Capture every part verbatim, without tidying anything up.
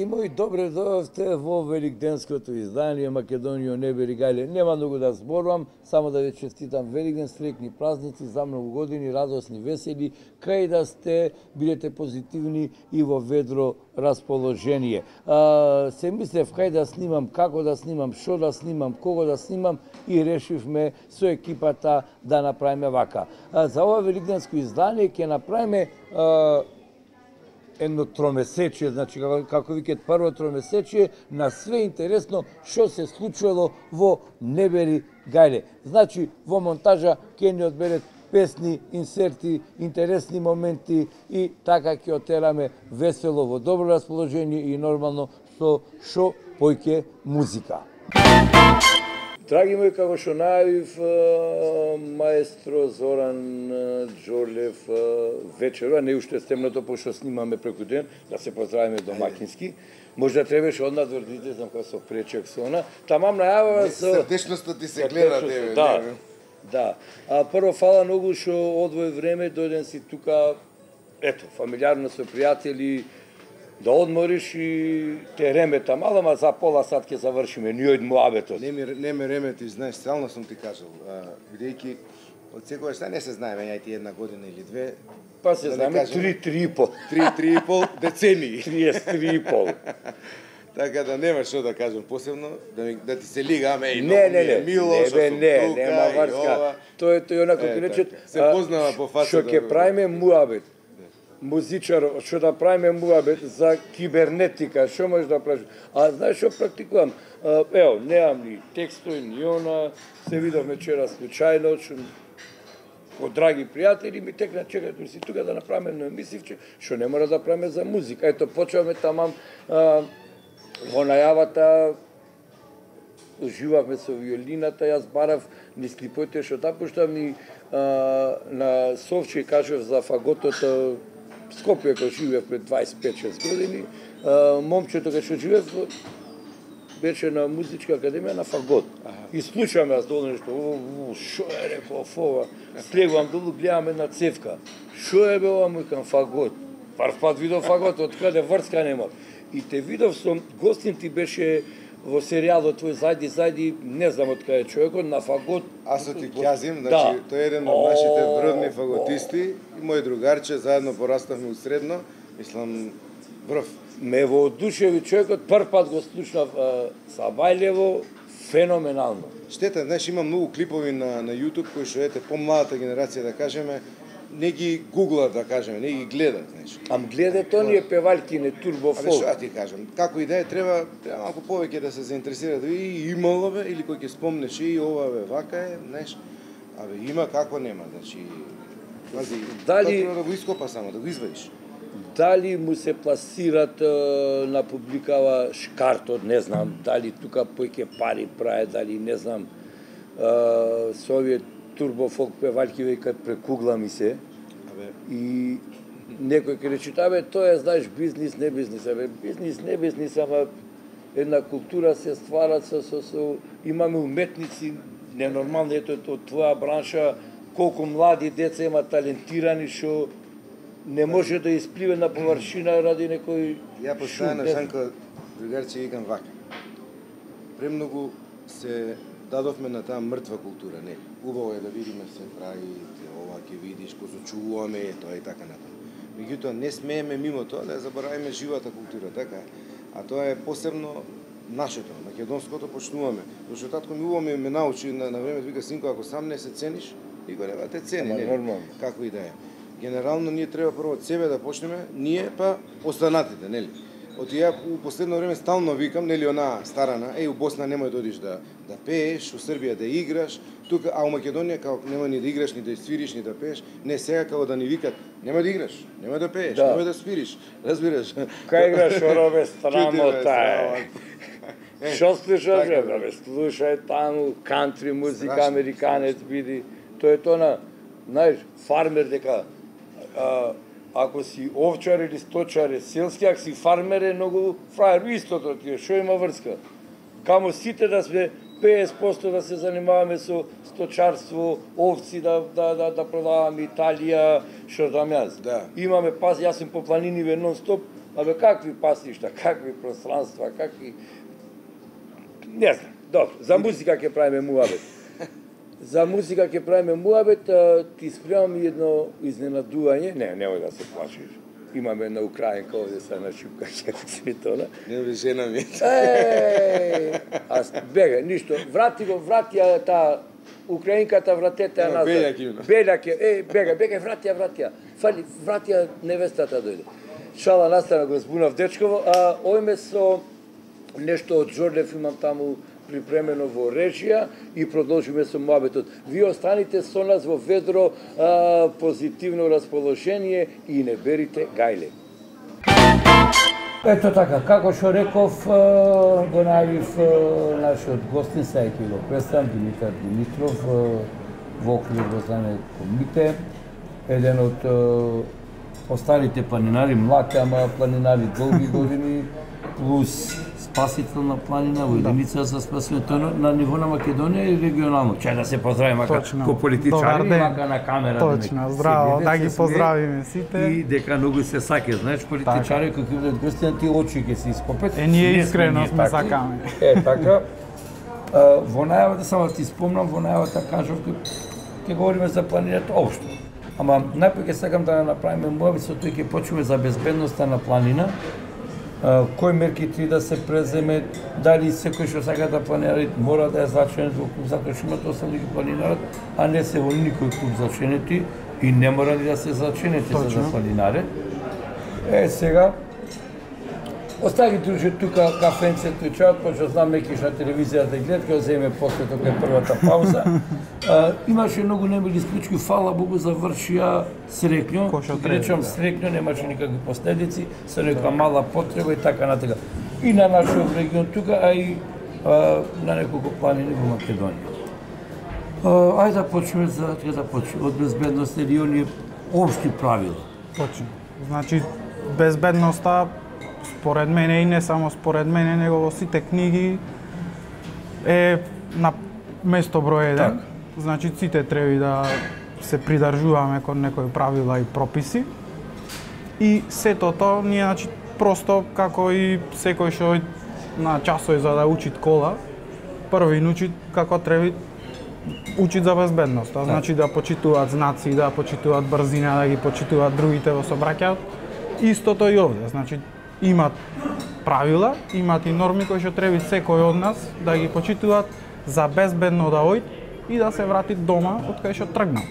мои, добре дојдовте во великденското издание Македонија не бери гајле. Нема многу да зборувам, само да ви честитам Великден, среќни празници, за многу години, радосни, весели, кај да сте, бидете позитивни и во ведро расположение. А, се мислев кај да снимам, како да снимам, што да снимам, кого да снимам и решивме со екипата да направиме вака. А, за ова великденско издание ќе направиме а, едно тромесечие, значи како, како викат прво тромесечие на све интересно што се случило во Небери гајле. Значи во монтажа ќе ни одберет песни, инсерти, интересни моменти и така ќе отераме весело во добро расположение и нормално со шо појќе музика. Драги мои, како што најавив, маестро Зоран Џорлев вечерва, не уште стемното, пошто снимаме преку ден, да се поздравиме домакински. Можда требаше однадвор да излезам како со пречек со она. Тамам најава со... Срдечноста ти се гледа, тебе. Да, да. А прво, фала многу што одвој време, дојден си тука, ето, фамилиарно со пријатели, да одмориш и те ремета мало, ма за пола сат ќе завршиме, ни од муабетот. Не ми, не ме ремети, знаеш, стално сум ти кажал, бидејќи од секогаш не се знаеме, јајти една година или две. Па се да знаеме три, три и пол. три, три и пол децении. триесет три и пол. Така да нема што да кажам посебно, да, ми, да ти се лигаме и не, не, не, мило, не, што не, сум не, тука, нема врска. Тој тој онако ќе речет, се познава по фаса. Што ќе правиме муабет. Музичар, што да правиме муабет за кибернетика, што можеш да правиш? А знаеш што практикувам? Ево, немам ни текстови, ни она, се видовме вчера случајно, од драги пријатели ми текна чекајте си тука да направиме едно емисивче, што не мора да правиме за музика. Ето почнавме тамам а, во најавата, уживавме со виолината, јас барав низ клипоите што да пуштам и а, на Совче кажав за фаготото Скопје кој живеев пред дваесет и пет шест години, а, момчето кај што живеев беше на музичка академија на фагот. Аха. И слушам јас долу нешто, шо е реков ова, слегувам долу, гледам една цевка. Шо е бе ова, мујкам фагот. Прв пат видов фагот, од каде врска нема. И те видов со гостин ти беше во серијалот твој зајди, зајди, не знам од каде човекот, на фагот. Аз ти ќазим, значи, тој е еден од нашите врвни фаготисти и мој другарче, заедно пораставме у средно, мислам, врв. Ме воодушеви човекот, прв пат го слушнав Сабајлево, феноменално. Штета, знаеш, има многу клипови на, на YouTube кои што ете помладата генерација, да кажеме, не ги гуглат, да кажеме, не ги гледат, знаеш. Ам гледат оние певалки, не турбофол. Абе, што ти кажам, како и да е, треба, треба малку повеќе да се заинтересира, да и имало бе, или кој ќе спомнеш и ова бе, вака е, знаеш. Абе, има како нема, значи, пази, дали треба да го ископа само, да го извадиш. Дали му се пласират е, на публикава шкартот, не знам, дали тука појќе пари праe, дали не знам, е, со овие турбофолк певалки векат прекугла ми се. Абе. И некој ќе рече, абе, тоа е, знаеш, бизнис, не бизнис, абе, бизнис, не бизнис, ама една култура се ствара со, со, со имаме уметници, ненормални, ето од твоја бранша, колку млади деца има талентирани, што не може да испливе на површина ради некој... Ја постојано, Санко, другарче, викам вака. Премногу се дадовме на таа мртва култура, не. Убаво е да видиме се прави, ова ќе видиш, кој се чуваме, тоа и така натаму. Меѓутоа, не смееме мимо тоа да ја заборавиме живата култура, така. А тоа е посебно нашето, македонското почнуваме. Зашто татко ми убаво ме научи на, на време, вика, синко, ако сам не се цениш, никој нема те цени, не, како и да е. Генерално ние треба прво од себе да почнеме, ние па останатите, нели? Од ја у последно време стално викам, нели, она старана, еј, у Босна немој да одиш да да пееш, у Србија да играш, тука, а у Македонија како нема ни да играш, ни да свириш, ни да пееш, не сега како да ни викат, нема да играш, нема да пееш, да. Нема да свириш, разбираш? Кај играш оробе страмота е. Што слушаш, бе, слушај таму кантри музика, американец биди, тоа е тоа на, знаеш, фармер дека А, ако си овчар или сточар е селски, ако си фармер е многу фраер, истото ти е, шо има врска? Камо сите да сме петдесет проценти да се занимаваме со сточарство, овци да, да, да, да продаваме Италија, што дам јас. Да. Имаме, паз, јас сум по планиниве нон-стоп, Абе, какви пасишта, какви пространства, какви... Не знам, добро, за музика ќе правиме муабет. За музика ќе правиме муабет, ти спремам едно изненадување, не, немој да се плачиш. Имаме една украинка овде са на шипка Светона. Не бе, жена ми. Е, аз бега, ништо. Врати го, врати ја таа украинката, вратете ја назад. Белјак има. Белјак е, е, бега, бега, врати ја, врати ја. Фали, врати ја невестата дојде. Шала настана го збунав дечково, а ојме со нешто од Жорлев имам таму припремено во режија и продолжиме со муабетот. Вие останите со нас во ведро а, позитивно расположение и не берите гајле. Ето така, како што реков, го најавив нашиот гостин, сега ќе го представам, Димитар Димитров, во оквир во знаме комите, еден од остарите планинари, млад, ама планинари долги години, плюс спасител на планина во единица за спасување на ниво на Македонија и регионално. Чај да се поздравиме како политичари, мака на камера. Точно, здраво, да ги поздравиме сите. И дека многу се саке, знаеш, политичари кои ќе бидат гости на тие очи ќе се ископет. Е, ние искрено сме сакаме. Е, така. Во најавата, само ти спомнам, во најавата кажав, ќе говориме за планината општо. Ама најпрво ќе сакам да направиме муабет со тој ќе почнеме за безбедноста на планина. Uh, кои мерки три да се преземе, дали секој што сака да планира мора да е заченет во клуб, затоа што имате осам да планинарат, а не се во никој клуб заченети и не мора ни да се заченети за да планинаре. Е, сега, остави друже тука кафенцето и чајот, пошто знам некиш на телевизија да гледат, ќе земе после тока е првата пауза. Uh, имаше многу немили случаи, фала Богу, завршија срекњо. Ќе речам срекњо, немаше никакви последици, со нека мала потреба и така натака. И на нашиот регион тука, а и uh, на неколку планини во Македонија. Uh, ајде да почнеме за ќе да почнеме од безбедноста или оние општи правила. Точно. Значи безбедноста според мене и не само според мене, него во сите книги е на место број еден. Так. Значи, сите треба да се придржуваме кон некои правила и прописи. И сето тоа, ние, значи, просто, како и секој што на часови за да учит кола, први учит како треба учит за безбедност. Значи, да почитуваат знаци, да почитуваат брзина, да ги почитуваат другите во сообраќајот. Истото и овде. Значи, имат правила, имат и норми кои што треба секој од нас да ги почитуваат за безбедно да ојд и да се врати дома од кај што тргнал.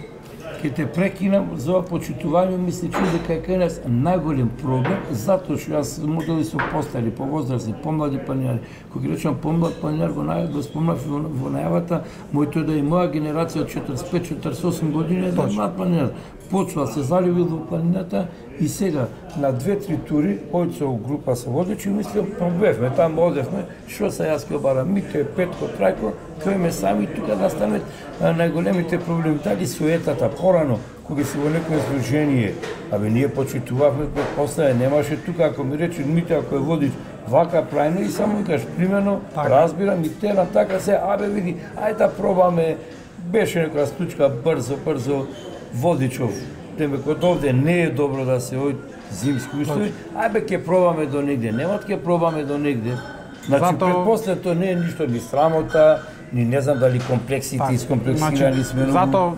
Ке те прекинам за ова почитување, мисли че дека е кај нас најголем проблем, затоа што јас модели со постари, повозрасни, помлади планинари. Кога речам помлад планинар, во најавата го спомнав во, во најавата, моето да и моја генерација од четридесет и пет четридесет и осум години е да млад планинар. Почва се заливил во планината и сега на две-три тури, ојд со група со водачи, мислам, пробевме, таму одевме, што се јас ке барам, Мите, Петко, Трајко, којме сами тука да станат најголемите проблеми. Дали суетата порано, кога си во некој изложение, абе ние почитувавме после, немаше тука, ако ми рече Мите, ако е водиш вака прајно и само кажеш, примерно, разбирам и те на така се, абе види, ајде да пробаме, беше некоја случка брзо, брзо, водичов, деме код овде не е добро да се ој зимски услови, ајбе ќе пробаме до негде, нема ќе пробаме до негде. Значи, Зато... предпоследно тоа не е ништо ни срамота, ни не знам дали комплексите так, искомплексирани сме. Значи, зато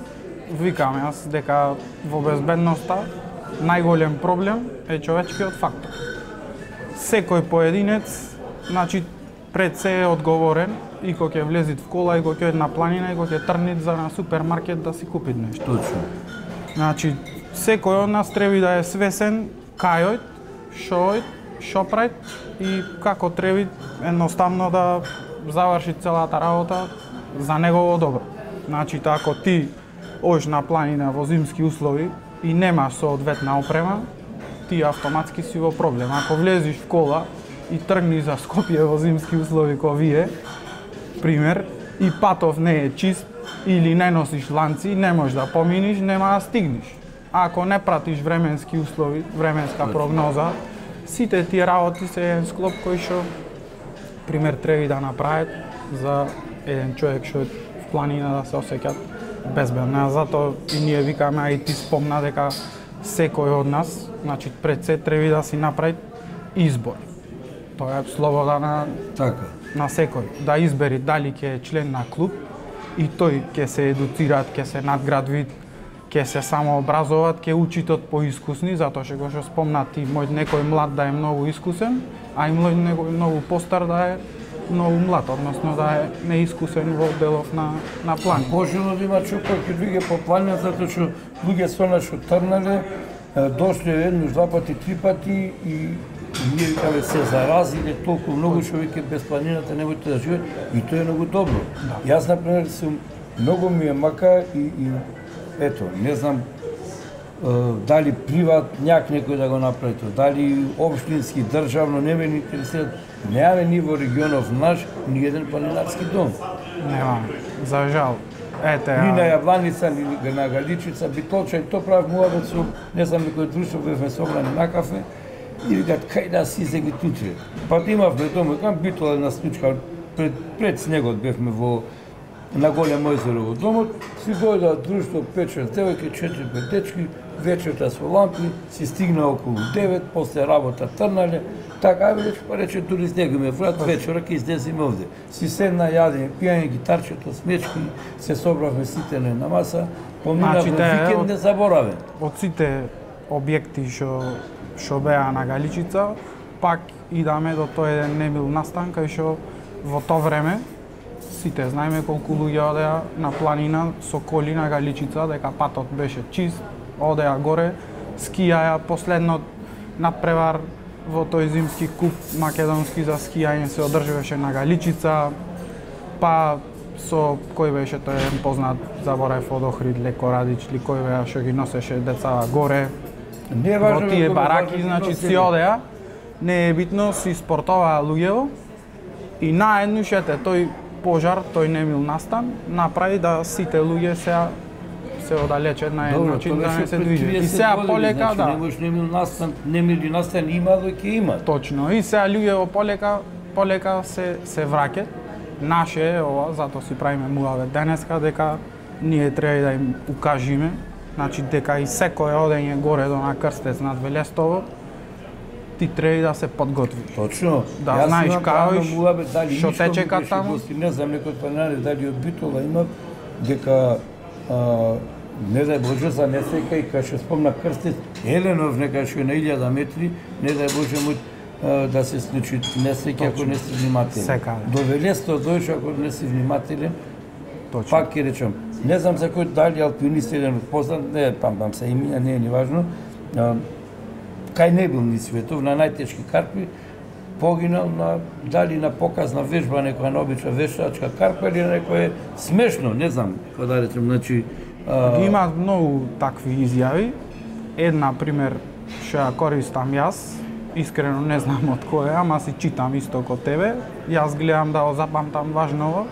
викам јас дека во безбедноста најголем проблем е човечкиот фактор. Секој поединец, значи, пред се е одговорен и кога ќе влезит в кола, и кога ќе на планина, и кога ќе трнит за на супермаркет да си купи нешто. Точно. Значи, секој од нас треба да е свесен кај ојд, шо ојд, шо прави и како треба едноставно да заврши целата работа за негово добро. Значи, ако ти оиш на планина во зимски услови и нема соодветна опрема, ти автоматски си во проблем. Ако влезиш в кола и тргни за Скопје во зимски услови кој вие, пример, и патов не е чист, или не носиш ланци, не можеш да поминиш, нема да стигнеш. А ако не пратиш временски услови, временска прогноза, сите тие работи се еден склоп кој што, пример, треба да направат за еден човек што е в планина да се осеќат безбедно. Затоа и ние викаме, а и ти спомна дека секој од нас, значи пред се треба да си направи избор. Тоа е слобода на Така. на секој да избери дали ќе е член на клуб и тој ќе се едуцираат, ќе се надградвит, ќе се самообразуваат, ќе учитот поискусни, затоа што го што спомнати мој некој млад да е многу искусен, а и мој некој многу постар да е многу млад, односно да е неискусен во делов на на план. Пожелно да има човек кој ќе луѓе по планина, затоа што луѓе со нас што трнале, дошле еднаш, два пати, три пати и ние каде се заразиле толку многу што веќе без планината не можете да живеат и тоа е многу добро. Да. Јас например сум многу ми е мака и, и ето, не знам дали приват няк некој да го направи тоа, дали општински, државно, не ме интересира. Немаме ни во регионов наш ни еден планинарски дом. Немаме, за жал. Ете, Ни на Јавланица, ни на Галичица, Битолча, и тоа правев муабет со, не знам, некој друштво, бевме собрани на кафе, и викат, кај да си се ги туче. Па имавме дома, кам Битола една случка, пред, пред снегот бевме во на Големо езеро во домот, си дојдоа друштво пет-шест девојки, четири-пет дечки, вечерта со лампи, си стигна околу девет, после работа трнале, така, ајде па рече турист него ме врат, вечера ќе излеземе овде. Си седна, јадеме, пијање гитарчето, смечки, се собравме сите на маса, поминавме Значи, викенд не заборавен. Од сите објекти што што беа на Галичица, пак идаме до тој еден немил настан кај што во тоа време сите знаеме колку луѓе одеа на планина со коли на Галичица, дека патот беше чист, одеа горе, скијаја, последно надпревар во тој зимски куп македонски за скијање се одржуваше на Галичица, па со кој беше тој еден познат, заборав од Охрид, Леко Радич, ли кој беа што ги носеше децава горе, Не е важно во тие како бараки, важно значи носење. си одеа, не е битно, си спортоваа луѓево и наеднуш ете тој пожар, тој немил настан, направи да сите луѓе се се оддалечат на еден начин да не се движат. И сега полека, да. Не можеш немил настан, немил настан има, но ќе има. Точно. И сега луѓе полека, полека се се враќаат. Наше е ова, затоа си правиме муавет денеска дека ние треба да им укажиме, значи дека и секое одење горе до на Крстец над Велестово ти треба да се подготвиш. Точно. Да Јас знаеш имам као правно иш, муабет, дали што Мишко тече ми кад беше таму? гости, не знам некој планинари, дали од Битола има, дека а, не дај Боже за несека и кај што спомна Крстец, Еленов нека што е на илјада метри, не дај Боже му а, да се случи несеќа ако не си внимателен. Секаде. До Велесто дојш ако не си внимателен, Точно. пак ќе речам, не знам за кој дали алпинист еден познат, не памтам се имена, не е ни важно, а, кај не бил ни светов, на најтешки карпи, погинал на дали на показна вежба, некоја наобична вештачка карпа или некој смешно, не знам, како да речем, значи а, Ги има многу такви изјави. Една пример што ја користам јас, искрено не знам од кој е, ама си читам исто ко тебе. Јас гледам да го запамтам важново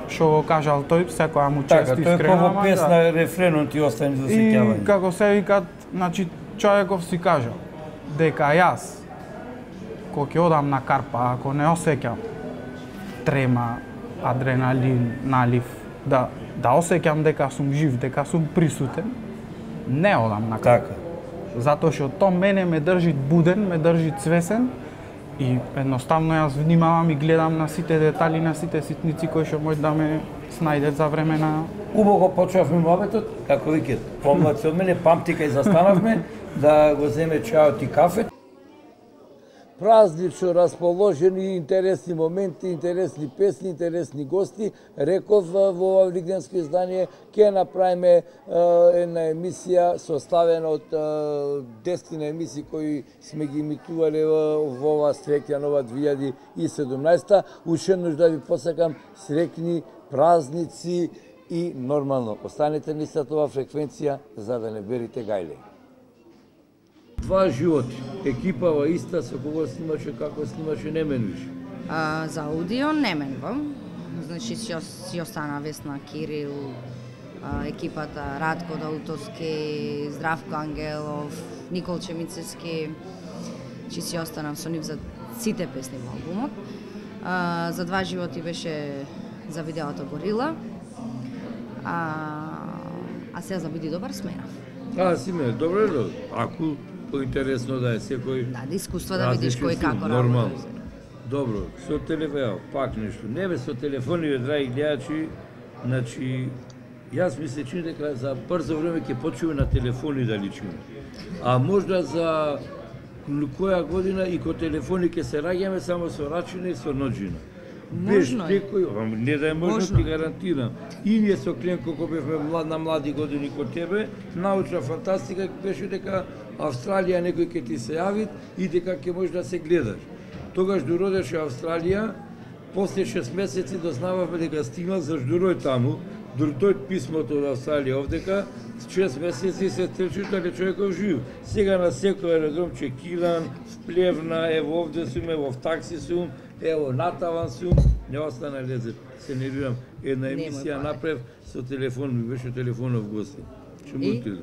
што го кажал тој, секоја му чест така, тоа е искрено. како ама песна, да. рефренот ти остане за И сеќавање. како се викат, значи човеков си кажал дека јас кога ќе одам на карпа, ако не осеќам трема, адреналин, налив, да да осеќам дека сум жив, дека сум присутен, не одам на карпа. Така. Затоа што тоа мене ме држи буден, ме држи цвесен и едноставно јас внимавам и гледам на сите детали, на сите ситници кои што може да ме снајдат за време на Убаво почнавме муабетот, како викат, помлади од мене, памти кај застанавме, да го земе чајот и кафе. Празнично расположени, интересни моменти, интересни песни, интересни гости. Реков во ова великденско издание ќе направиме е, една емисија составена од десет емисии кои сме ги имитувале во, во ова среќна нова две илјади и седумнаесета. Уште еднаш да ви посакам среќни празници и нормално останете на истата ова фреквенција за да не берите гајле. Два животи, екипава иста со кого снимаше, како снимаше, не менуваш. А, за аудио не менувам. Значи си, си остана Весна Кирил, а, екипата Радко Даутовски, Здравко Ангелов, Никол Чемицевски. Чи си останав со нив за сите песни во албумот. А, за Два животи беше за видеото Горила. А, а сега за Биди добар сменав. А, си ме, добре, добре. Ако поинтересно да е секој. Да, да искуство да видиш кој различен како сум, нормално. работи. Добро, со телефон, пак нешто. Не бе со телефони, драги гледачи, значи јас ми се чини дека за брзо време ќе почнеме на телефони да личиме. А можда за која година и ко телефони ќе се раѓаме само со рачина и со ноџина. Без Можно е. некој, не да е можно, Можно. ти гарантирам. И ние со Кленко, кога бевме млад, на млади години ко тебе, научна фантастика беше дека Австралија некој ќе ти се јави и дека ќе можеш да се гледаш. Тогаш доодеше Австралија, после шест месеци дознававме дека стигнал, зашто дојде таму, дојде писмото од Австралија овдека, шест месеци се трчиш дека човеков жив. Сега на секој аеродром чекиран, вплевна, ево овде сум, ево в такси сум, ево натаван сум, не остана лезе. Се нервирам, една емисија Немој, направив со телефон, ми беше телефонов гости. Што И? му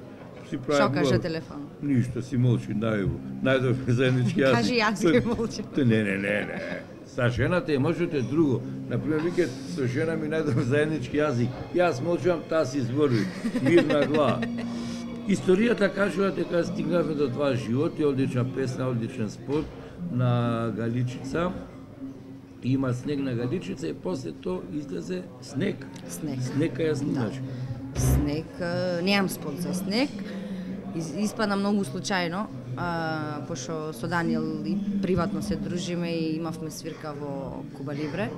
си прави Што каже говор. телефон? Ништо, си молчи, најаво. Најдовме заеднички јазик. Кажи јас Тој- ќе молчам. Тој, Не, не, не, не. Са жената е можете друго. Например, вике со жена ми најдов заеднички јазик. Јас молчам, таа си збори. Мирна глава. Историјата кажува дека стигнавме до два животи, одлична песна, одличен спорт на Галичица. Има снег на Галичица и после тоа излезе снег. Снег. Снег ја снимаш. Снег, а, немам спот за снег. Из, испадна многу случајно, а, пошто со Даниел и приватно се дружиме и имавме свирка во Куба Либре.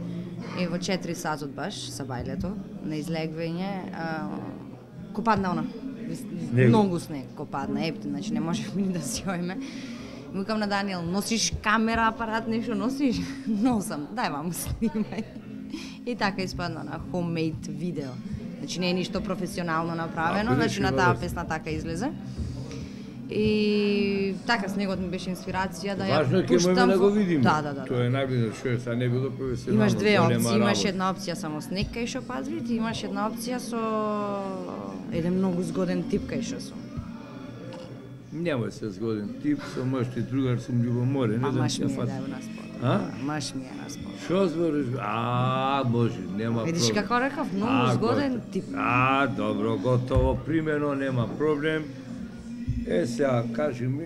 И во четири сатот баш, са бајлето, на излегвање, а, ко падна она. Снегот. Многу снег ко падна, епти, значи не можевме ни да си ојме. И викам на Даниел, носиш камера, апарат, нешто носиш? Носам, дај мамо снимај. И така испадна на homemade видео. Значи не е ништо професионално направено, Ако значи беше на таа добро. песна така излезе. И така снегот ми беше инспирација да ја Важно е ке пуштам. можеме да го во- видиме. Да, да, да. Тоа е најбитно, што е, сега не било професионално. Имаш две голема опции, имаш работа. една опција само снег кај што пазрит и имаш една опција со еден многу згоден тип кај што сум. Нема се згоден тип, со мъж и другар сум љубоморен. А не знам маж ми ќе е фат. да е на спорт. А? Маж ми е на спорт. Шо збориш? А, може, нема Видиш проблем. како рекав, многу А, згоден готово. тип. А, добро, готово, примено, нема проблем. Е, сега, кажи ми,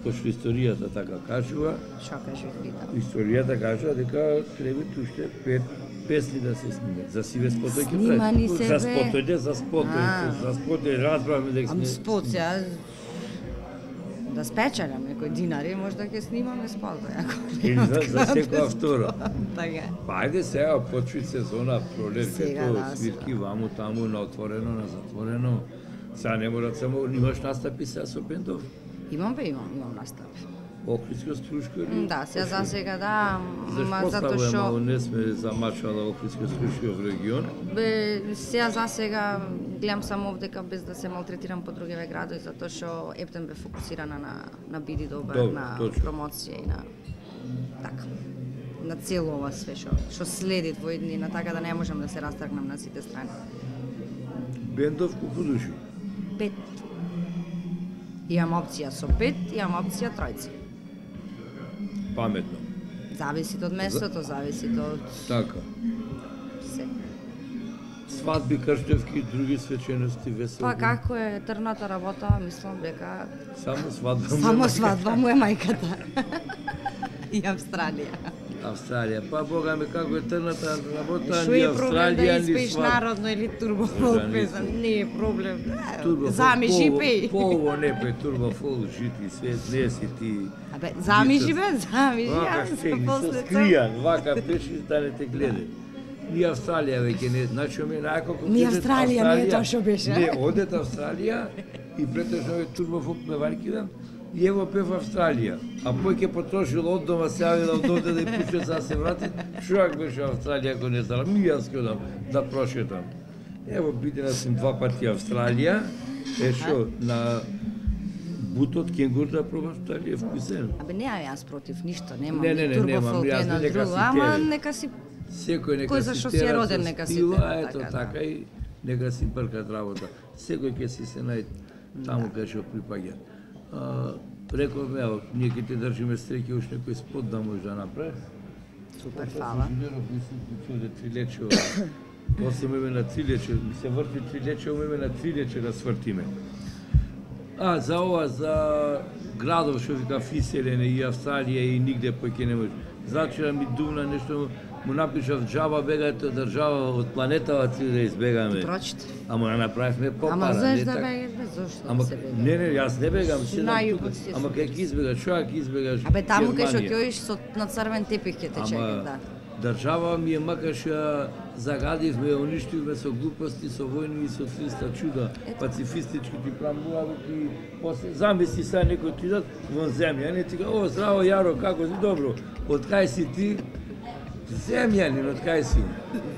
пошто историјата така кажува, Што кажи питам? историјата кажува дека треба уште пет песни да се снимат. За сиве спотој ќе Снимани се, За бе. спотој, не за спотој, А. за спотој разбравме дека Ам сме... спот сега да спечелам некој динари, можда ќе снимаме спот, ако Или нема за, за секоја втора. Така е. Па ајде сега почви сезона, пролет, Сега, лето, да, свирки ваму таму на отворено, на затворено. Сега не мора само, имаш настапи сега со бендов? Имам бе, имам, имам настап. Охридско струшко или? Да, сега за сега да, ма Зашто затоа ставува што мало не сме замачала Охридско струшко регион? бе сега за сега гледам само овдека без да се малтретирам по другиве градови затоа што Ептен бе фокусирана на на биди добар, Добро, на точно. промоција и на така на цело ова све што што следи во иднина, така да не можам да се растргнам на сите страни. Бендов колку души? Пет. Имам опција со пет, имам опција тројци. Паметно. Зависи од местото, зависи од Така. се. Свадби, крштевки, други свечености, веселби. Па како е трната работа, мислам дека Само свадба. само нема. свадба му е мајката. И Австралија. Австралија. Па бога ми како е трната работа, Шо ни е проблем да Австралија, ни испееш свадба. народно или турбо Можда фолк не песен? се. Не е проблем. Турбо Зами фолк, жипеј. По ово не пе турбо фол жити, свет не си ти. Абе, зами Ти се- живе, зами Вака живе. стегни, со скријан, вака пеши да не те гледа. Ни Австралија веќе не, значи ми најако Ни Австралија, не е тоа што беше. Не, одет Австралија и претежно овој турбофолк певаркидан и ево пев Австралија. А пој ќе потрошил од дома, се јавила од овде да ја пуше за да се врати. Шоак беше Австралија ако не знала, ми јас ќе одам да прошетам. Ево бидена сум два пати Австралија, е шо на бутот кенгур да пробаш дали е вкусен. Абе, неа јас против ништо, немам Не, не, ни не, турбо немам, фолк јас едно нека друго, си ама терен. нека си Секој нека Кој си зашо си е тера роден, со нека си стила, тера, ето така, така да. и нека си бркат работа. Секој ќе си се најде таму кај што припаѓа. А, Рековме, ево, ние ќе те држиме стреки, уште некој спот да може да направи. супер фала. Инженеров мислам ќе трилече. После име на трилече, ми се врти трилече, име на трилече да свртиме. А, за ова, за градов што вика Фиселене и Австралија и нигде поќе не може. Зачера ми думна нешто, му напишав джаба бегате од држава, од планетава цели да избегаме. Прочит. Ама ја направивме попара. Ама знаеш не да така. бегате, зошто Ама да се бега? не, не, јас не бегам, Си седам на тука. југот си Ама си. кај ќе избегаш, што ќе избегаш? Абе таму кај што Германија. ќе одиш со на црвен тепих ќе те чека, да. Држава ми е макар што ја загадивме, уништивме со глупости, со војни и со триста чуда, пацифистички ти прамбувави, после замисли сега некој ти дат вон земја, не ти га, о, здраво Јаро, како си, добро, од кај си ти? Земјанин, од кај си?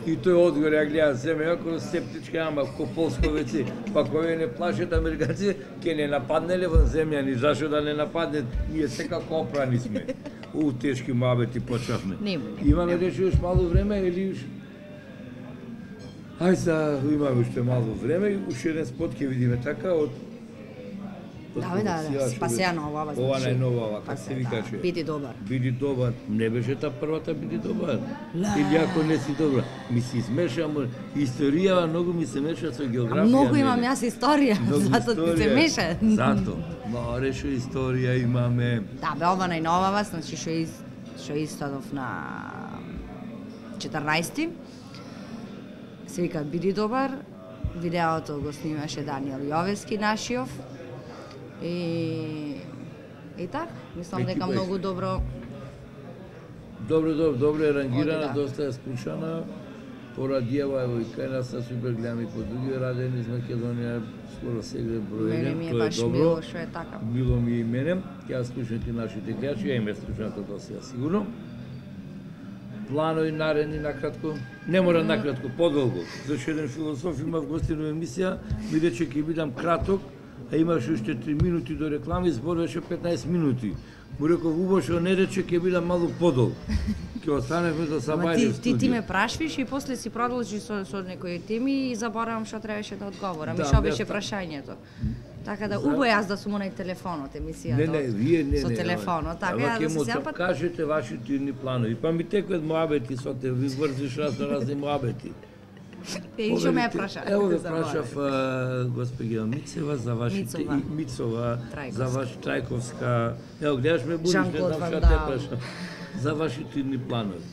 И тој одговор ја гледа земја, како септичка ама ко полско веце, па кој не плашат американци, ќе не нападнеле вон земјани, зашо да не нападнет, ние секако опрани сме. У тешки муабети почнавме. Нема. Имаме рече уште мало време или уште? Ај са, имаме уште мало време, уште еден спот ќе видиме така од Да, бе, да, да, спасеа нова, ова, Ова значи. најнова, Па како се, се да, викаше. биди добар. Биди добар. Не беше та првата биди добар. Ле. Или ако не си добра. Ми се измешам, историјава многу ми се меша со географија. А многу мене. имам јас историја, Многу затоа ти се историја. меша. Зато. Море што историја имаме. Да, бе, ова најновава, значи што из што истадов на четрнаесети. Се вика Биди добар. Видеото го снимаше Даниел Јовески нашиов. И и така, мислам дека Екипа многу е. добро. Добро, добро, добро е рангирана, Оди, да. доста е скучана. Порадијава, ево и кај нас са супер гледам и по други радени из Македонија, скоро сегде број Мене еден, ми е тоа е баш добро. мило што е така. Било ми и мене, ќе скучнати нашите гледачи, ја име скучната до сега сигурно. Планови наредни накратко, не мора накратко, подолго. Зашто еден философ имав гостинова емисија, ми рече ќе бидам краток, а имаше уште три минути до реклами, зборуваше петнаесет минути. Му реков, убаво што не рече ќе бидам малку подолг. Ќе останевме до Ама сабајле ти, в ти, ти студио. ме прашвиш и после си продолжи со, со некои теми и заборавам што требаше да одговорам Да, и што да, беше та- прашањето. Така да, За- убаво јас да сум онај телефонот, емисијата. Не, не, вие не, Со не. телефонот, така ама ја ќе да се му сепат. кажете вашите идни планови. Па ми теквет муабети со те, ви врзиш разно разни муабети. И што ме ја Поверите, праша? Ево ве Заборавам. прашав а, госпоѓа Мицева за вашите Мицова. и Мицова, Трајковска. за ваш Трајковска. Ево гледаш ме будиш, не Жан-Клод знам Ван што те Дам. прашам. За вашите идни планови.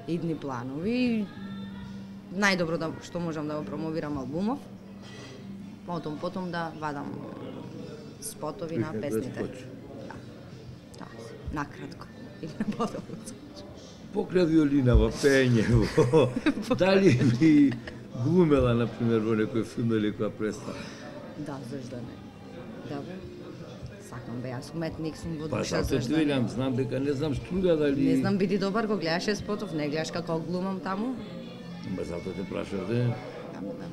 Идни планови. Најдобро да што можам да го промовирам албумов. Потом потом да вадам спотови на Како да песните. скочи. Да. Да, накратко. Или на подолго. Покрај виолинава, пење, дали би глумела, например, во некој филм или која представа? Да, зашто не? Добро. Сакам бе, јас уметник сум во Па душа, зато зашто ти не? велам, знам дека не знам струга дали... Не знам, биди добар, го гледаше спотов, не гледаш како глумам таму? Ба зато те прашав, де. Да, да.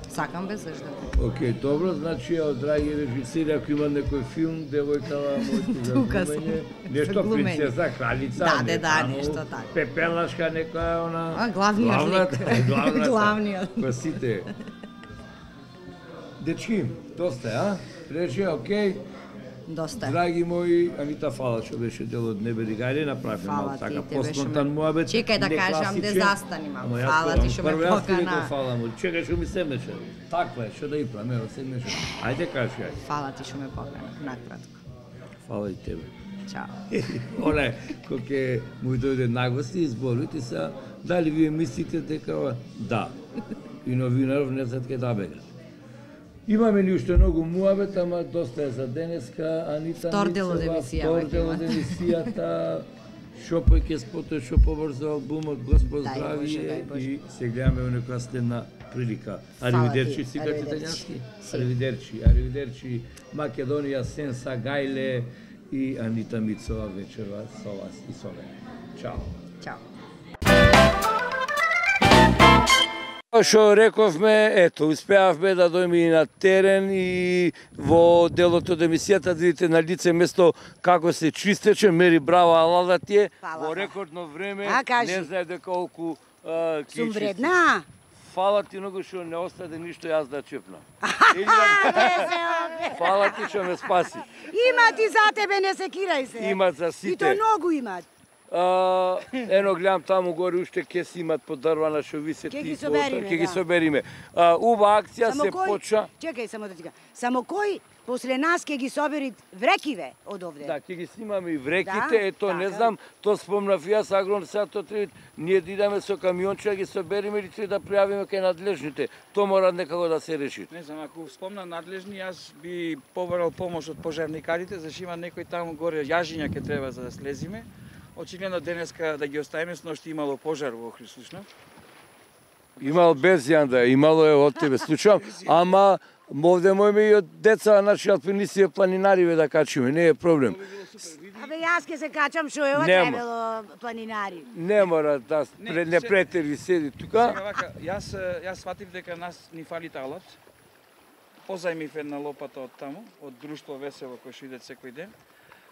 Сакам бе, зашто не? Океј, добро, значи, од драги режисери, ако има некој филм, девојкава моето за Тука сум. глумење, За нешто глумење. принцеса, кралица, Да, не де, да, таму, нешто така. Пепелашка некоја, она... А, главниот главната, лик. главната. Главниот. Па сите. Дечки, доста е, а? Рече, океј. Доста. Драги мои, Анита, фала што беше дел од Небе Гајле, направивме Фала малку ти, така те беше поспонтан ме- муабет. Чекај да не кажам, де класичен. застани малку. Ама јас Фала кажам, ти што ме прво јас ти покана. реков фала му. Чекај што ми седнеше. Таква е, што да и правам, ево седнеше. Ајде кажи, ајде. Фала ти што ме покана, накратко. Фала и тебе. Чао. Оне, кој ќе му дојде нагости и зборите са, дали вие мислите дека ова? Да. И новинаров не знаат кај да бегат. Имаме ли уште многу муабет, ама доста е за денеска. Анита Втор дел од Мицева, емисија втор веќе дел од има. емисијата. Шо поќе спото, шо побрзо албумот, Господ Дај здрави Боже, е дај Боже. и се гледаме во некоја следна прилика. Фала Аривидерчи, ти, си кажете аривидерчи. италијански? Си. Аривидерчи, аривидерчи, Македонија, Сенса, Гајле и Анита Мицова вечерва со вас и со мене. Чао. Чао. Што рековме, ето, успеавме да дојме и на терен и во делот од емисијата, да видите на лице место како се чистече, мери браво Алала ти е, Фала. во рекордно време, А, кажи. не знае дека колку а, ки Сум чисти. вредна. Фала ти многу што не остаде ништо јас да чепнам. Или А, да- не се опе. Фала ти што ме спаси. Има ти за тебе, не се кирај се. Имат за И сите. то многу имат. А, ено гледам таму горе уште кеси имат подрвана што висет Ќе ги и собериме, ќе ги да. собериме. А, уба акција Само се кој, поча. чекај само да ти кажам. Само кој после нас ќе ги соберит врекиве од овде. Да, ќе ги снимаме и вреките, Да, ето не така. знам, то спомнав јас агрон сега тоа треба ние да идеме со камионче да ги собериме или треба да пријавиме кај надлежните. Тоа мора некако да се реши. Не знам, ако спомнам надлежни, јас би побарал помош од пожарникарите, зашто има некој таму горе јажиња ќе треба за да слезиме. Очигледно денеска да ги оставиме, сношти имало пожар во Охрид, слушно. Имал без јанда, имало е од тебе случај, ама овде можеме и од деца, наши алпинисти и планинари да качиме, не е проблем. Абе јас ќе се качам што е ова Нема. требало планинари. Не мора да Не, не, не се- претери седи тука. Сега вака, јас јас сватив дека нас ни фали талат. Позајмив една лопата од таму, од друштво Весело кој што иде секој ден.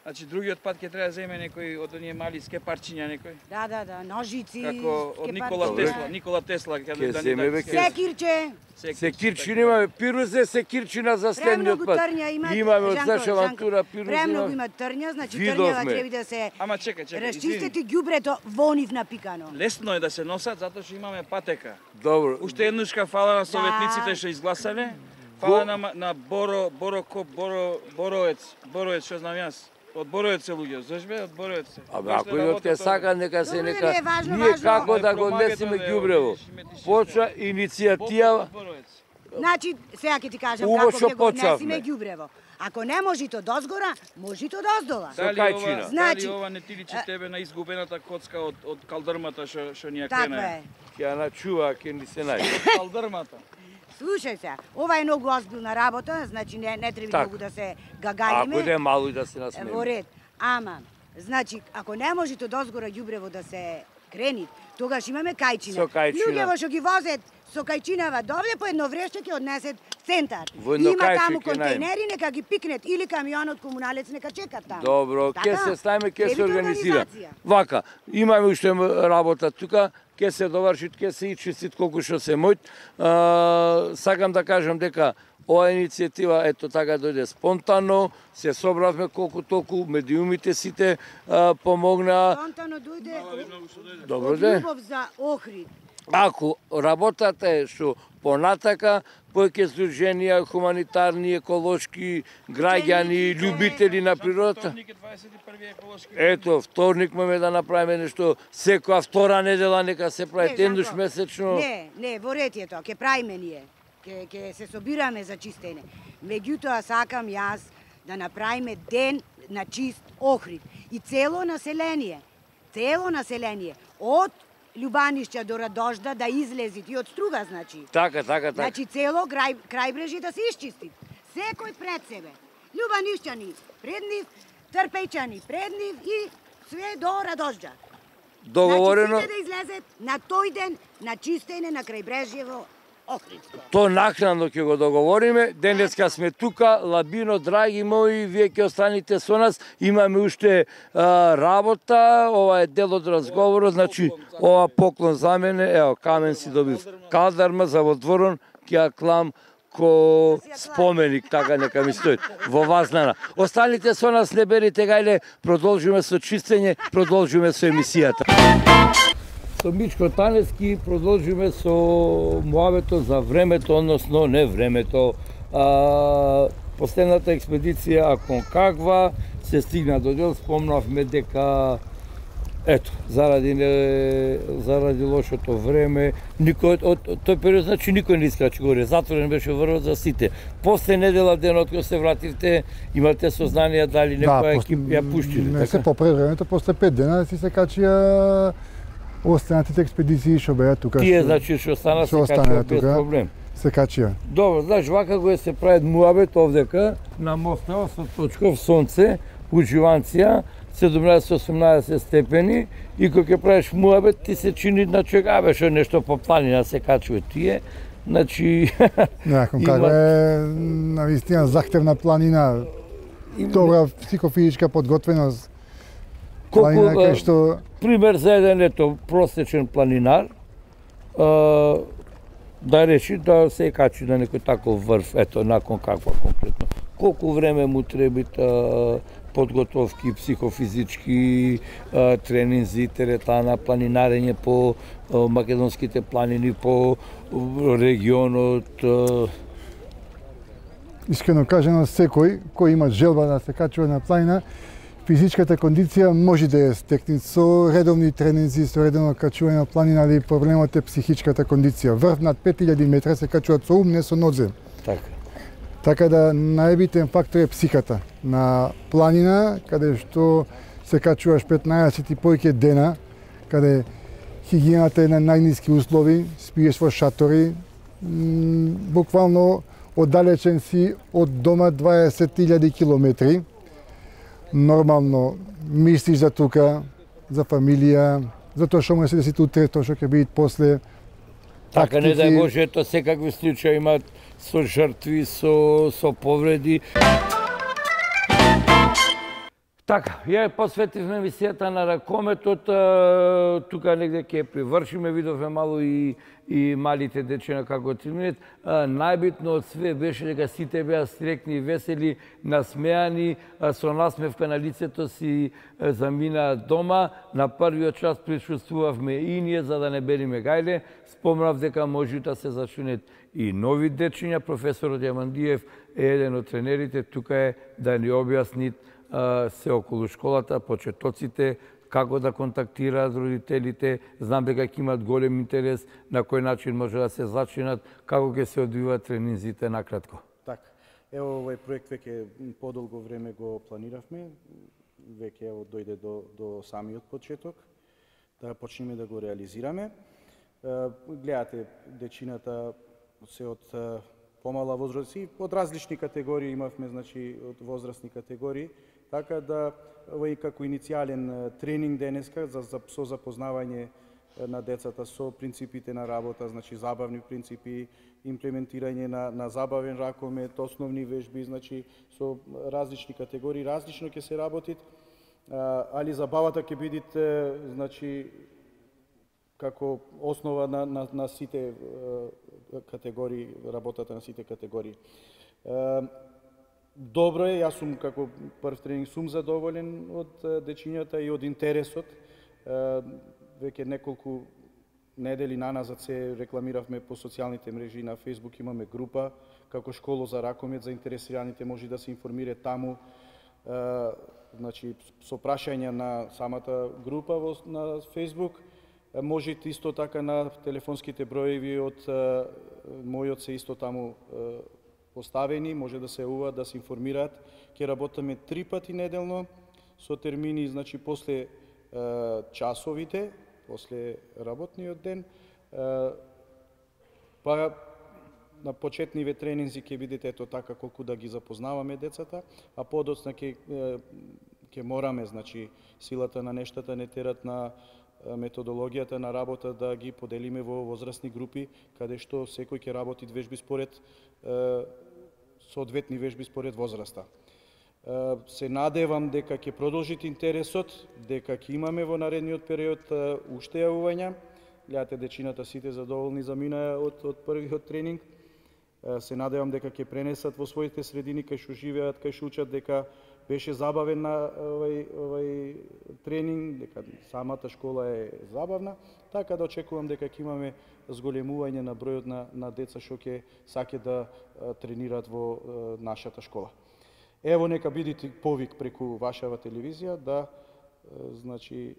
Значи другиот пат ќе треба да земе некој од оние мали скепарчиња некој. Да, да, да, ножици, Како од Никола скепарчиња. Тесла, Никола Тесла Ќе ќе да земе, бе, ќе- Секирче, Секирчи имаме, пирузе секирчина за следниот премногу пат. трња има. Имаме од Жанко, наша Жанко, авантура пирузе. Премногу имаме. има трња, значи Видовме. трњава треба да се Ама чекај, чекај. расчистите извини. ѓубрето во нив напикано. Лесно е да се носат затоа што имаме патека. Добро. Уште еднушка фала на советниците што изгласале. Фала на ма- на Боро Боро Коп Боро Бороец, Бороец што знам јас. Од Бороец се луѓе, знаеш бе, од Бороец се. Абе, ако идот ке сака, нека се Добре, нека... не е важно, Ние важно. како да Е, го промагате, однесеме бе, ѓубрево. видиш, ме ти Почва шиште. иницијатива, Значи, сега ќе ти кажам Убаво како што ќе го однесиме почнавме. ѓубрево. Ако не може то дозгора, може то доздола. Со Дали кајчина. ова, Значи, дали ова не ти личи тебе на изгубената коцка од од калдрмата што што ни ја Така крена? е. ќе ја начува, ќе ни се најде. Калдрмата. Слушај се, ова е многу озбилна работа, значи не, не треба Так. многу да се Ако гагариме. иде мало и да се Е, Во насмееме. ред. Ама, значи, ако не може то дозгора ѓубрево да се крени, тогаш имаме кајчина. Со кајчина. Луѓево што ги возат со кајчинава довде, по едно вреште ќе однесет центар. Во едно Има кајче таму ќе најме. контейнери, нека ги пикнет или камионот комуналец нека чекат таму. Добро, ќе Така? се ставиме, ќе се Требите организира. организација. Вака, имаме уште работа тука, ќе се довршит, ќе се и чистит колку што се мојт. А, сакам да кажам дека ова иницијатива ето така дојде спонтано, се собравме колку толку, медиумите сите а, помогнаа. Спонтано дојде Добро од де. љубов за Охрид. Ако работата е што понатака, повеќе здруженија, хуманитарни, еколошки, граѓани, љубители на природата. Вторник е дваесет и први еколошки. Ето, вторник можеме да направиме нешто, секоја втора недела нека се прави, Не, еднаш Жанко, месечно. Не, не, во ред е тоа, ќе правиме ние. Ќе ќе се собираме за чистење. Меѓутоа сакам јас да направиме ден на чист Охрид и цело население, цело население од Љубанишќа до Радожда да излези и од Струга, значи. Така, така, така. Значи цело крај крајбрежје да се исчисти. Секој пред себе. Љубанишќани пред нив, Трпејчани пред нив и све до Радожда. Договорено, Значи, сите да излезет на тој ден на чистење на крајбрежјево Охридско. то накнадно ќе го договориме. Денеска сме тука, Лабино, драги мои, вие ќе останете со нас. Имаме уште а, работа, ова е дел од разговорот, значи ова поклон за мене, ево, камен си добив. Калдарма за во дворон, ќе ја клам ко споменик, така нека ми стои, во Вазнана. Останите со нас, не берите гајле, продолжиме со чистење, продолжиме со емисијата. Со Мичко Таневски продолжиме со муабето за времето, односно не времето. А, последната експедиција Аконкагва се стигна до дел, спомнавме дека ето, заради не, заради лошото време, никој од, од тој период значи никој не искачи горе, затворен беше врвот за сите. После недела денот кога се вративте, имате сознание дали некоја пос- екип ја пуштиле, Не се така? попре времето, после пет дена си се качија останатите експедиции што беа тука. Тие што значи што стана се што качува останаа без тука. проблем. Се качија. Добро, знаеш, вака го е се прават муабет овдека на мостева со точков сонце, уживанција, седумнаесет осумнаесет степени и кога ќе правиш муабет ти се чини на човек, абе што нешто по планина се качува тие. Значи Након Има- како е навистина захтевна планина, добра психофизичка подготвеност. колку Планина кај а, што пример за еден ето просечен планинар а, да речи да се качи на некој таков врв, ето након каква конкретно. Колку време му требит а, подготовки психофизички, а, тренинзи, теретана, планинарење по а, македонските планини, по а, регионот. А, искрено кажано, секој кој има желба да се качува на планина, физичката кондиција може да ја стекне со редовни тренинзи, со редовно качување на планина, али проблемот е психичката кондиција. Врв над пет илјади метра се качуваат со ум, не со нозем. Така. Така да најбитен фактор е психата. На планина, каде што се качуваш петнаесет и повеќе дена, каде хигиената е на најниски услови, спиеш во шатори, буквално оддалечен си од дома дваесет илјади километри. Нормално мислиш за тука, за фамилија, за тоа што може да си утре, тоа што ќе биде после. Така, не дај Боже, ето секакви случаи имаат со жртви, со, со повреди. Така, ја посветивме емисијата на ракометот, тука негде ќе привршиме, видовме мало и, и малите дечина како тренираат. Најбитно од све беше дека сите беа среќни, весели, насмеани, со насмевка на лицето си заминаа дома. На првиот час присуствувавме и ние, за да не бериме гајле. Спомнав дека може да се зачунет и нови дечиња. Професорот Јамандиев е еден од тренерите, тука е да ни објасни се околу школата, почетоците, како да контактираат родителите. Знам дека ќе имат голем интерес на кој начин може да се зачинат, како ќе се одвиваат тренинзите накратко. Така. Ево овој проект веќе подолго време го планиравме, веќе ево дојде до до самиот почеток, да почнеме да го реализираме. Гледате, дечината се од помала возраст и од различни категории имавме, значи од возрастни категории, така да овој како иницијален тренинг денеска за, за со запознавање на децата со принципите на работа, значи забавни принципи, имплементирање на, на забавен ракомет, основни вежби, значи со различни категории, различно ќе се работи, али забавата ќе биде, значи, како основа на, на, на сите категории, работата на сите категории. Добро е, јас сум како прв тренинг сум задоволен од дечињата и од интересот. Веќе неколку недели наназад се рекламиравме по социјалните мрежи, на Facebook имаме група како школа за ракомет, заинтересираните може да се информираат таму. Значи со прашања на самата група во, на Facebook. Можете исто така на телефонските броеви од мојот се исто таму поставени, може да се јавуваат, да се информираат. Ќе работиме три пати неделно со термини, значи после часовите, после работниот ден. Па на почетниве тренинзи ќе видите ето така колку да ги запознаваме децата, а подоцна ќе ќе мораме, значи силата на нештата не терат на методологијата на работа да ги поделиме во возрастни групи, каде што секој ќе работи вежби според е, соодветни вежби според возраста. Е, се надевам дека ќе продолжите интересот, дека ќе имаме во наредниот период е, уште јавувања. Гледате, дечината сите задоволни заминаа од, од првиот тренинг. Е, се надевам дека ќе пренесат во своите средини кај што живеат, кај што учат, дека беше забавен на овој, овој тренинг, дека самата школа е забавна, така да очекувам дека ќе имаме зголемување на бројот на, на деца што ќе саке да а, тренираат во а, нашата школа. Ево, нека бидите повик преку вашава телевизија да а, значи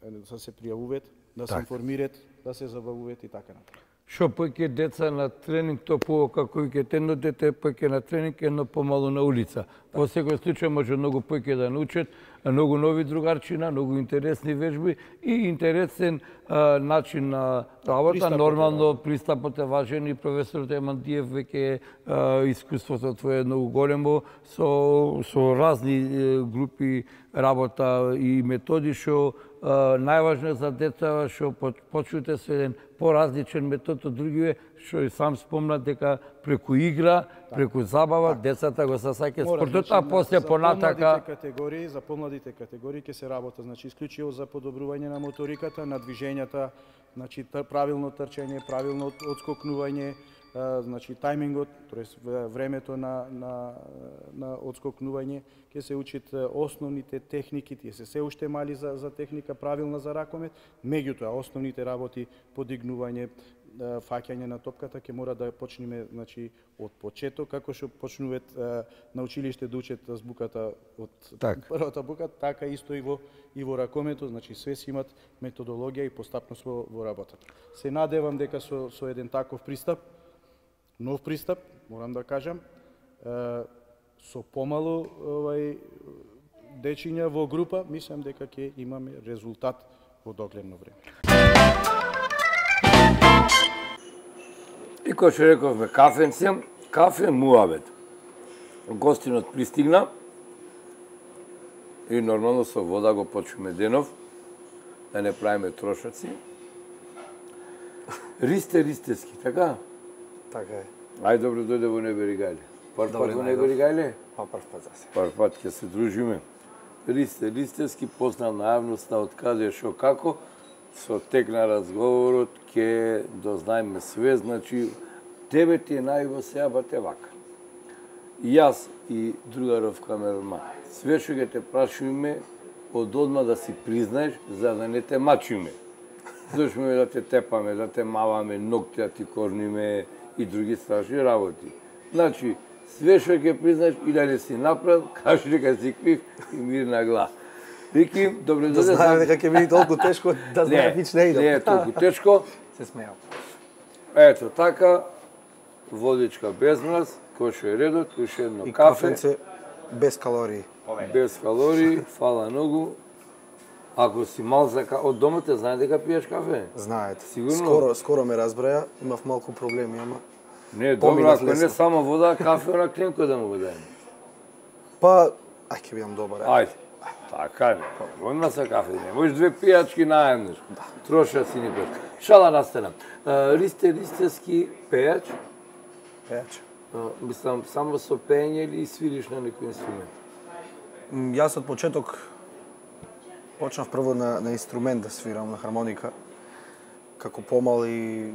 да се пријавуваат, да се информираат, да се забавуваат и така натаму. Што поќе деца на тренинг, то по како и ке едно дете поќе на тренинг, едно помалу на улица. Во секој случај може многу поќе да научат, многу нови другарчина, многу интересни вежби и интересен а, начин на работа. Пристапот Нормално пристапот е важен и професорот Емандиев веќе искуството твое е многу големо со со разни групи работа и методи што најважно за деца што почнете со еден поразличен метод од другиве, што и сам спомна дека преку игра, преку забава, децата го сасаќаат спортот, а после понатака... За помладите категории, за помладите категории ќе се работа, значи исклучиво за подобрување на моториката, на движењата, значи правилно трчање, правилно одскокнување, значи тајмингот, тоест времето на, на, на одскокнување, ќе се учат основните техники, тие се се уште мали за, за техника правилна за ракомет, меѓутоа основните работи, подигнување, фаќање на топката ќе мора да почнеме значи од почеток, како што почнуваат на училиште да учат збуката од так. првата бука, така исто и во и во ракомето, значи све си имат методологија и постапност во, во работата. Се надевам дека со со еден таков пристап, нов пристап, морам да кажам, со помалу овај дечиња во група, мислам дека ќе имаме резултат во догледно време. И кој што рековме кафенце, кафе муабет. Гостинот пристигна и нормално со вода го почваме денов, да не правиме трошаци. Ристе ристески, така? Така е. Ај добро дојде во Неберигајле. Прв пат во Неберигајле? Па прв пат за се. Прв пат ќе се дружиме. Ристе ристески познал на јавноста од каде шо како, со тек на разговорот ќе дознаеме све, значи тебе ти е најво сега ба те вака. И јас и другаров камерман, све што ќе те прашуваме, од одма да си признаеш, за да не те мачиме. Дошме да те тепаме, да те маваме, ногти да ти корниме и други страшни работи. Значи, све што ќе признаеш и да не си направил, кажи дека си крив и мирна глава. Вики, добре да знаеме дека ќе биде толку тешко, да знаеме вич не идам. Не е толку тешко. Се смејам. Ето така, водичка без мраз, кој што е редот, уште едно и кафе. И кафенце без калории. Без калории, фала многу. Ако си мал за кафе, од дома те знае дека пиеш кафе? Знаете. Сигурно? Скоро, скоро ме разбраја, имав малку проблеми, ама... Не, добро, ако не само вода, кафе на клинко да му го дајме. Па, ај ќе бидам добар. Ајде. Така не, одма са кафе, не можеш две пијачки наеднаш. Троша си ни пет. Шала настана. Ристе ристески пејач? Пејач. Мислам, само со пење или свириш на некој инструмент? Јас од почеток почнав прво на, на инструмент да свирам, на хармоника. Како помал и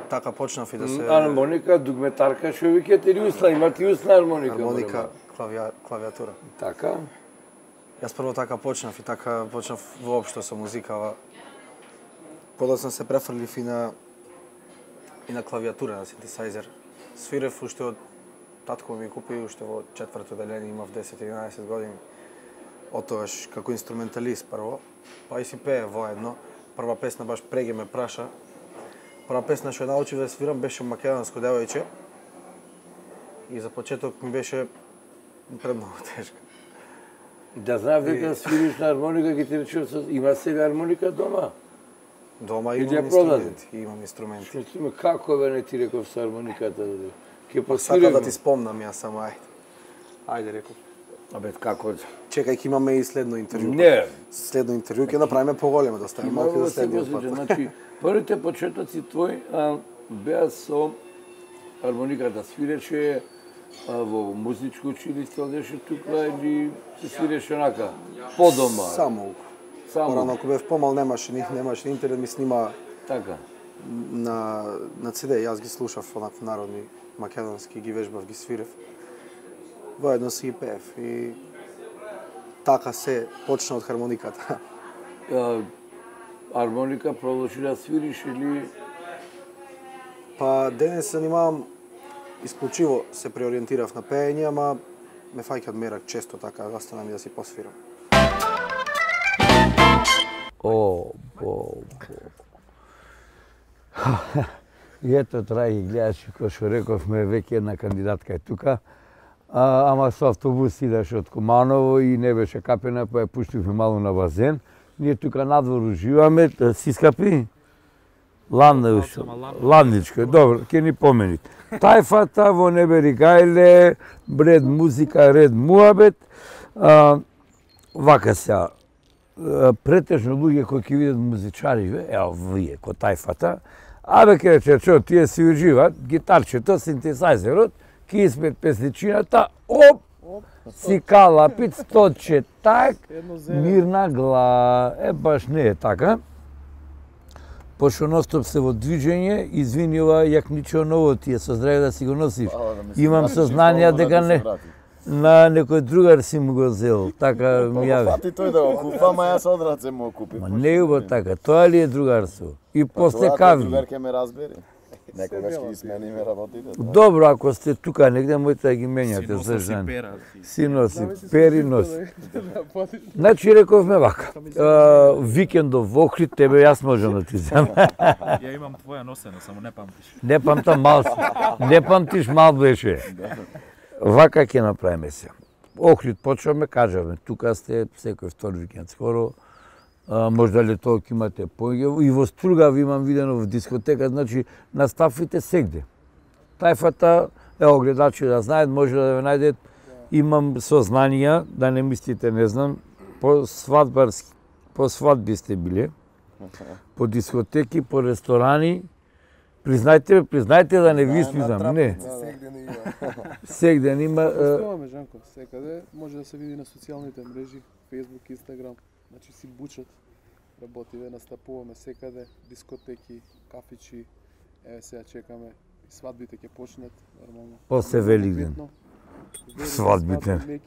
така почнав и да се... Хармоника, дугметарка, што викате или усна? Имате усна хармоника? Хармоника, клавија, клавиатура. Така? Јас прво така почнав и така почнав воопшто со музикава. Подоцна се префрлив и на и на клавиатура, на синтесајзер. Свирев уште од татко ми купи, уште во четврто деление, имав десет-единаесет години. Отогаш како инструменталист прво, па и си пее воедно. Прва песна баш преге ме праша. Прва песна што научив да свирам беше Македонско девојче. И за почеток ми беше премногу тешка. Да знам дека и... свириш на хармоника, ќе ти речем, има сега хармоника дома? Дома имам инструменти, имам инструменти. Што ти ме, како бе не ти реков со хармониката? Ќе посвирам. Сака да ти спомнам јас само, ајде. Ајде, реков. Абе, како? Чекај, ќе имаме и следно интервју. Не. Следно интервју ќе направиме поголемо, да ставиме малку да следниот пат. Значи, првите почетоци твои беа со хармониката, свиреше во музичко училиште, одеше тука или се свиреше онака, по дома? Само. Само. Порано, ако бев помал, немаше, немаше интернет, ми снима така. На, на си ди, јас ги слушав онак народни македонски, ги вежбав, ги свирев. Воедно си ги пеев и така се почна од хармониката. Хармоника продолжи да свириш или? Па денес се занимавам, исклучиво се преориентирав на пеење, ама ме фаќаат мерак често така, остана ми да си посвирам. О, бо, бо. И ето, драги гледачи, кој што рековме, веќе една кандидатка е тука. А, ама со автобус идеше од Куманово и не беше капена, па ја пуштивме малу на базен. Ние тука надвор уживаме, си скапи? Ландна, ландичка, добро, ќе ни помените. Тајфата во Неберигајле, бред музика, ред муабет. А, вака сега, претежно луѓе кои ќе видат музичари, ево вие, ко тајфата, абе ке рече, чо, тие си уживат, гитарчето, синтесајзерот, ки испет песничината, оп, си калапит, сточе, так, мирна гла, е, баш не е така. Пошто ностоп се во движење, извини ова јакничо ново ти е, со здраве да си го носиш. Имам сознание дека не... На некој другар си му го зел, така ми јави. Фати тој да го купа, ма јас од раце му го купив. Ма не е така, тоа ли е другарство? И после кави. Другар ке ме разбери. Некогаш ќе ги смениме работите. Добро, ако сте тука негде, можете да ги менјате за жени. Си носи пери, носи. Значи, рековме вака, викендов во Охрид, тебе јас можам да ти земам. Ја имам твоја носена, само не памтиш. Не памтам мал, не памтиш мал беше. Вака ќе направиме се. Охрид почваме, кажаме, тука сте секој втор викенд скоро, а, можда ли тоа ќе имате поиѓа. И во Стругав имам видено в дискотека, значи наставите сегде. Тајфата, ево гледачи да знаат, може да ве најдет. Имам сознанија, да не мислите, не знам, по свадбарски, по свадби сте биле, по дискотеки, по ресторани. Признајте, признајте да не ви испизнам, не. Сегде не има. Постојаме, Жанко, секаде, може да се види на социјалните мрежи, Facebook, Instagram, значи си бучат, работиме, настапуваме секаде, дискотеки, кафичи, еве сега чекаме, свадбите ќе почнат, нормално. После Великден. Свадбите.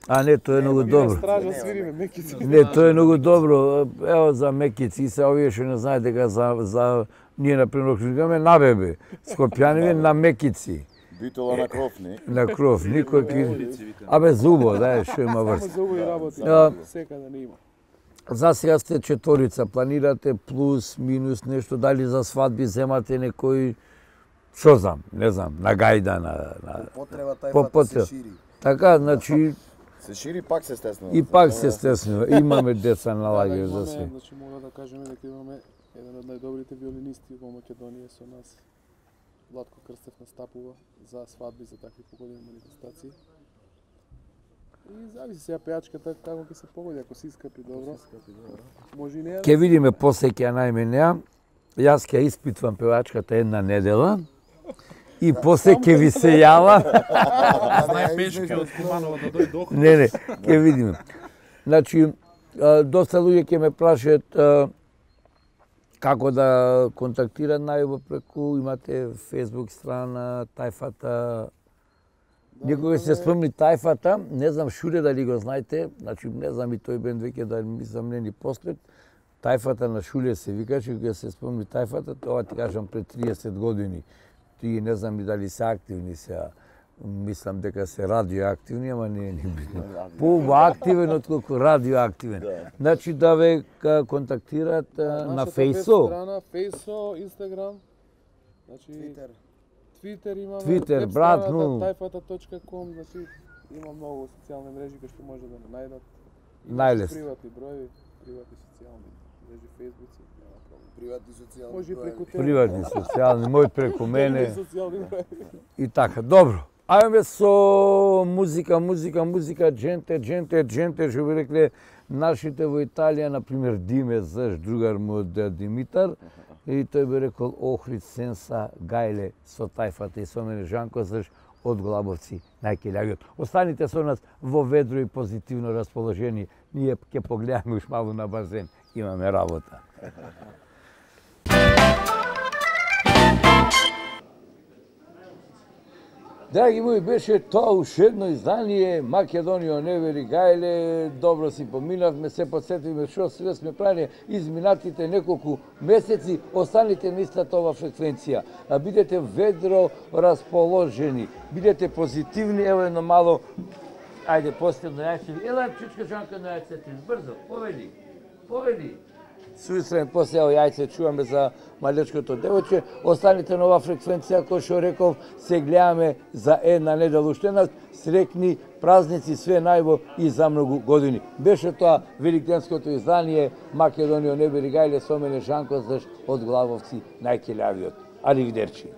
А не, тоа е многу добро. Стража свириме мекици. Не, тоа е многу добро. Ево за мекици, се овие што не знаат дека за за ние на пример викаме на бебе, скопјаниме на мекици. Битола на кров, не? На кров, никој ки. Абе зубо, да, што има врз. Само зубо и работи, секаде не има. За сега сте четворица, планирате плюс, минус нешто, дали за свадби земате некој, што знам, не знам, на гајда, на... на... Потреба тајфата се шири. Така, значи... Се шири, пак се стеснува. И пак се стеснува. Имаме деца на лагер за се. Значи, мора да кажеме дека имаме еден од најдобрите виолинисти во Македонија со нас. Владко Крстев настапува за свадби, за такви погодени манифестации. И зависи сега пејачката како ќе се погоди, ако се искапи добро. Може и не. Ке видиме после ќе најме неа. Јас ќе испитвам певачката една недела. И после ќе ви се јава. Знај пешки од Куманова да дојде до. Не, не, ќе видиме. Значи, доста луѓе ќе ме прашаат како да контактираат најубаво преку, имате Facebook страна, тајфата. Некој се спомни тајфата, не знам шуре дали го знаете, значи не знам и тој бенд веќе да ми замнени после. Тајфата на Шуле се викаше, кога се спомни тајфата, тоа ти кажам пред триесет години. Тие не знам и дали се активни сега. Мислам дека се радиоактивни, ама не е ни битно. Поактивен отколку радиоактивен. Значи да ве контактираат на Фейсо. Страна, Фейсо, Инстаграм, значи Твитер. Твитер имаме. Твитер, брат, ну. тајфата точка ком, значи има многу социјални мрежи кои што може да не најдат. Најлесно. Приватни броеви, приватни социјални мрежи, Фейсбуци. Приватни социјални може преку тебе. Приватни социјални, мој преку мене. И така, добро. Ајме со музика, музика, музика, дженте, дженте, дженте, што би рекле нашите во Италија, например, Диме Заш, другар му од Димитар, и тој би рекол Охрид, Сенса, Гајле, со тајфата и со мене Жанко Заш, од Глабовци, најкелјавиот. Останите со нас во ведро и позитивно расположение. Ние ќе погледаме уш малу на базен. Имаме работа. Драги мои, беше тоа уште едно издание Македонија не вери Гајле. Добро си поминавме, се подсетивме што све сме правили изминатите неколку месеци. Останите на истата ова фреквенција. А бидете ведро расположени, бидете позитивни. Ево едно мало, ајде последно јајце. Ела чучка Жанка на јајцето, брзо, поведи, поведи. Суистрен после ево јајце чуваме за малечкото девојче. Останите на ова фреквенција, кој што реков, се гледаме за една недела уште нас. Срекни празници, све најбо и за многу години. Беше тоа великденското издание Македонија не бери Гајле, со мене Жанко Заш од Главовци, најкелјавиот. Аривидерчи.